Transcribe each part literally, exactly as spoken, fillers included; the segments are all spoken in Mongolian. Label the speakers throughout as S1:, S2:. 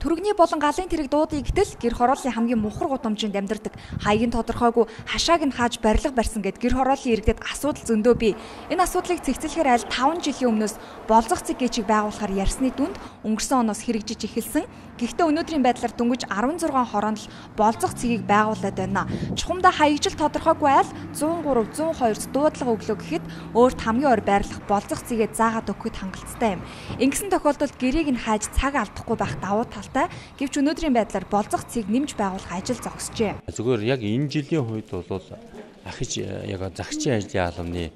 S1: Түргэний болон галын тэрэг дуудыг гэтэл гэр хорооллын хамгийн мухар гудамжинд амьдардаг. Хаяг нь тодорхойгүй, хашааг нь хааж барилга барьсан гэд гэр хорооллын иргэдэд асуудал зөндөө бий. Энэ асуудлыг цэгцлэхээр аль таван жилийн өмнөөс болзох цэг гэжийг байгуулахаар ярьсны дүнд өнгөрсөн оноос хэрэгжиж эхэлсэн. Гэхдээ өнөөдрийн байдлаар дөнгөж арван зургаан хороонд л болзох цэгийг байгуулад байна. Чухамдаа хаягжил тодорхойгүй айл зуун гурав зуун хоёр дуудлага өглөө гэхэд өөрт хамгийн ойр байрлах болзох цэгээ заагаад өгөхөд хангалттай юм. Ингэсэн тохиолдолд гэрийг нь хааж цаг алдахгүй байх давуу талтай. Гэвч өнөөдрийн байдлаар болзох цэгийг нэмж байгуулах ажил зогсжээ.
S2: Зүгээр яг энэ жилийн үед бол ахиж яг загчийн ажлын албаны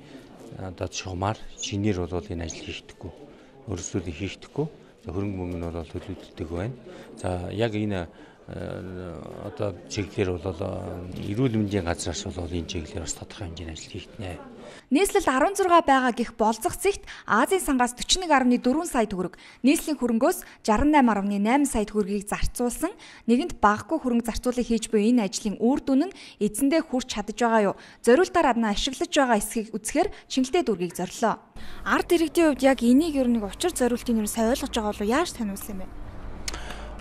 S2: одоо шугамар шинээр бол энэ ажил хийхдэггүй. Өөрсдөө хийхдэггүй. Хөрөнгө мөнгө нь бол төлөвлөдөг байна. За яг энэ одоо чиглэлээр бол эрүүл мэндийн газраас бол энэ чиглэлээр бас тодорхой хэмжээний ажил хийгднэ.
S1: Нийслэлд арван зургаан байгаа гэх болзох цэгт Азийн сангаас дөрвөн нэг гаруй дөрвөн сая төгрөг, нийслэлийн хөрөнгөөс шестдесят восемь гаруй найман сая төгрөгийг зарцуулсан. Нэгэнт багагүй хөрөнгө зарцуулыг хийж буй энэ ажлын үр дүн нь эзэндээ хүрч чадж байгаа юу? Зориултаар адна ашиглаж байгаа эсхийг үзэхээр Чингэлтэй дүүргийг зорилоо. Ард иргэдийн хувьд яг энийг ер нь учир зориултын нэр сайн ойлгож байгаа болов яаж таниулсан юм бэ?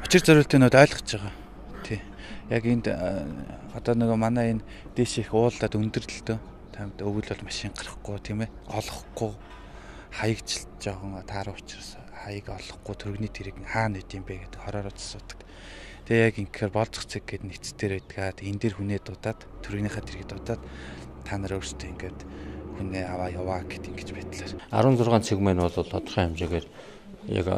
S3: Учир зориултын нь ойлгож байгаа. Тий. Яг энд одоо нөгөө манай энэ дээш их уулаад өндөрлөлтөө тамд өвөл бол машин гарахгүй тийм ээ олохгүй хаягжилж жоохон тааруу учраас хаяг олохгүй төрөгний тэрэг хаана идэм бэ гэдэг хороор асуудаг. Тэгээ яг инхээр болзох цэг гэдэг нэгцээр байдгаад энэ дэр хүнээ дуудаад төрөгнийхээ тэргийг дуудаад та нар өөрсдөө ингээд хүнээ аваа яваа гэдэг ингэж байдлаар
S2: арван зургаан цэг маань бол тодорхой хэмжээгээр яг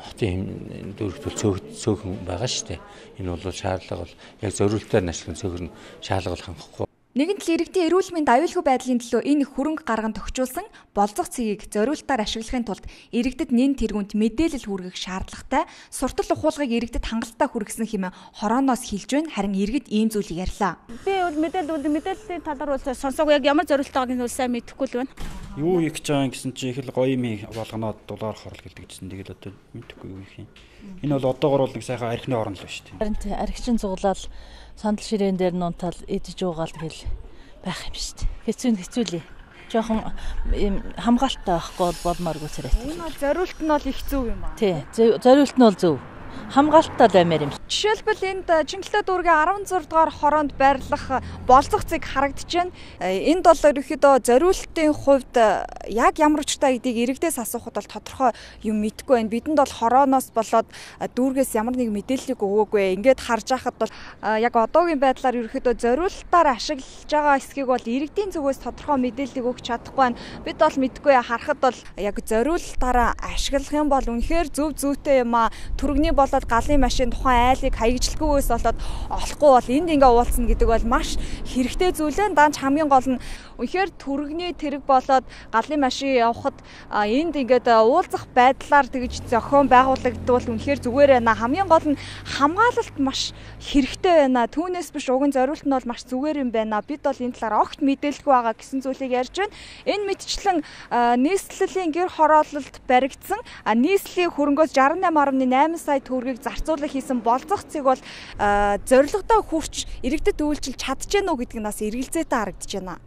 S2: хотын дүүрэгтүүл цөөхөн байгаа шүү дээ. Энэ бол шаардлага бол яг зориултаар ашиглан цөөхөр нь шаардлага хангахгүй.
S1: Нэгэнт л иргэдийн эрүүл мэнд аюулгүй байдлын төлөө энэ хөрөнгө гарган тохижуулсан болзох цэгийг зориултаар ашиглахын тулд иргэдэд нэн тэргүүнд мэдээлэл хүргэх шаардлагатай, суртал ухуулгыг иргэдэд хангалттай хүргэсэн хэмээн хорооноос хэлж байна. Харин иргэд ийм зүйлийг ярьлаа.
S4: Би бол мэдээлэл мэдээллийн талаар бол сонсоогүй, яг ямар зориултаа байгааг нь сайн мэдэхгүй л байна.
S5: Юу их гэж байгаа гэсэн чинь их л гоё юм болгоноо дулаар хорол гэлдэг гэсэн. Тэгэл одоо мэдэхгүй юу их юм. Энэ бол одоогор бол нэг сайхан архины орон л байна шүү дээ.
S6: Харин архичин цуглаал сандал ширээн дээр нунтал идэж уугаал гэл байх юм шүү дээ. Хэцүү хэцүүлээ. Жохон хамгаалттай байхгүй болмооргүй царайт.
S4: Энэ бол зориулт нь бол их зөв юм аа.
S6: Тий, зориулт нь бол зөв. Хамгаалттай баймаар юм.
S1: Жишээлбэл энд Чингэлтэй дүүргийн арван зургаан дугаар хороонд байрлах болзох цэг харагдаж байна. Энд бол ерөөхдөө зориултын хувьд яг ямар учиртай гэдгийг иргэдээс асуухад бол тодорхой юм мэдэхгүй байна. Бидэнд бол хорооноос болоод дүүргээс ямар нэг мэдээллийг өгөөгүй. Ингээд харж байхад бол яг одоогийн байдлаар ерөөхдөө зориултаар ашиглаж байгаа эсхийг бол иргэдийн зүгээс тодорхой мэдээллийг өгч чадахгүй байна. Бид бол мэдэхгүй харахад бол яг зориултаараа ашиглах юм бол үнэхээр зөв зүйтэй юм аа. Түргэний болоод галын машин тухайн айлыг хаягжилгүйгээс болоод олохгүй бол энд ингээ уулзна гэдэг бол маш хэрэгтэй зүйл ээ. Данч хамгийн гол нь үнэхээр түргэний тэрэг болоод галын машин явахад энд ингээд уулзах байдлаар тэгж зохион байгуулагдвал үнэхээр зүгээр байна. Хамгийн гол нь хамгаалалт маш хэрэгтэй байна. Түүнээс биш уг нь зориулт нь бол маш зүгээр юм байна. Бид бол энэ талаар огт мэдээлэлгүй байгаа гэсэн зүйлийг ярьж байна. Энэ мэтчлэн нийслэлийн гэр хороололд баригдсан нийслэлийн хөрөнгөөс шестьдесят восемь гаруй найман сая төгрөгийг зарцуулах хийсэн болзох цэг бол зорилгодоо хүрч иргэдэд үйлчилж чадж гэнэ үү гэдэг нь бас эргэлзээтэй харагдаж байна.